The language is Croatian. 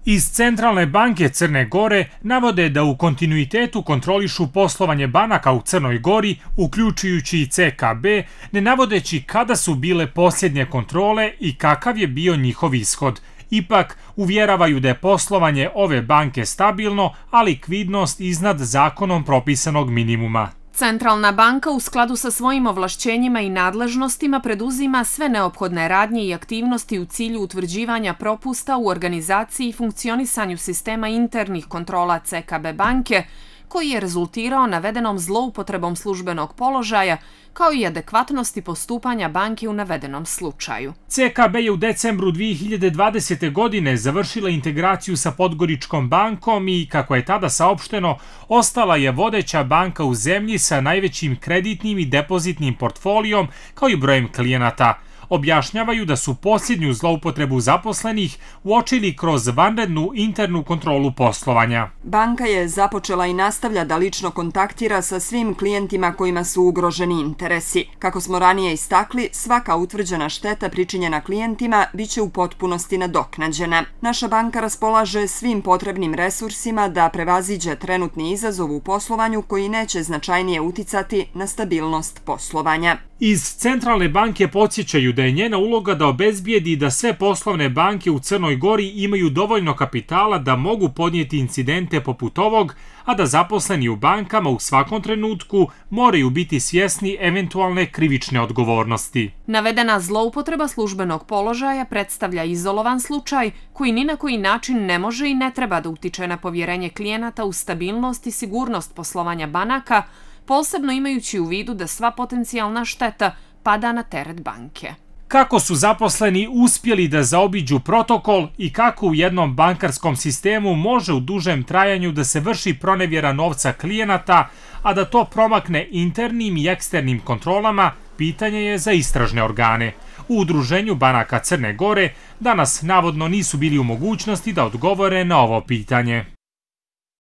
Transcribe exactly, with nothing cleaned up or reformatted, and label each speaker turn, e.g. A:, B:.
A: Iz Centralne banke Crne Gore navode da u kontinuitetu kontrolišu poslovanje banaka u Crnoj Gori, uključujući i C K B, ne navodeći kada su bile posljednje kontrole i kakav je bio njihov ishod. Ipak, uvjeravaju da je poslovanje ove banke stabilno, a likvidnost iznad zakonom propisanog minimuma.
B: Centralna banka u skladu sa svojim ovlašćenjima i nadležnostima preduzima sve neophodne radnje i aktivnosti u cilju utvrđivanja propusta u organizaciji i funkcionisanju sistema internih kontrola C K B banke, koji je rezultirao navedenom zloupotrebom službenog položaja, kao i adekvatnosti postupanja banke u navedenom slučaju.
A: C K B je u decembru dvije hiljade dvadesete. godine završila integraciju sa Podgoričkom bankom i, kako je tada saopšteno, ostala je vodeća banka u zemlji sa najvećim kreditnim i depozitnim portfolijom, kao i brojem klijenata. Objašnjavaju da su posljednju zloupotrebu zaposlenih uočili kroz vanrednu internu kontrolu poslovanja.
C: Banka je započela i nastavlja da lično kontaktira sa svim klijentima kojima su ugroženi interesi. Kako smo ranije istakli, svaka utvrđena šteta pričinjena klijentima biće u potpunosti nadoknađena. Naša banka raspolaže svim potrebnim resursima da prevaziđe trenutni izazov u poslovanju koji neće značajnije uticati na stabilnost poslovanja.
A: Iz Centralne banke podsjećaju da je njena uloga da obezbijedi da sve poslovne banke u Crnoj Gori imaju dovoljno kapitala da mogu podnijeti incidente poput ovog, a da zaposleni u bankama u svakom trenutku moraju biti svjesni eventualne krivične odgovornosti.
B: Navedena zloupotreba službenog položaja predstavlja izolovan slučaj koji ni na koji način ne može i ne treba da utiče na povjerenje klijenata u stabilnost i sigurnost poslovanja banaka, posebno imajući u vidu da sva potencijalna šteta pada na teret banke.
A: Kako su zaposleni uspjeli da zaobiđu protokol i kako u jednom bankarskom sistemu može u dužem trajanju da se vrši pronevjera novca klijenata, a da to promakne internim i eksternim kontrolama, pitanje je za istražne organe. U Udruženju banaka Crne Gore danas navodno nisu bili u mogućnosti da odgovore na ovo pitanje.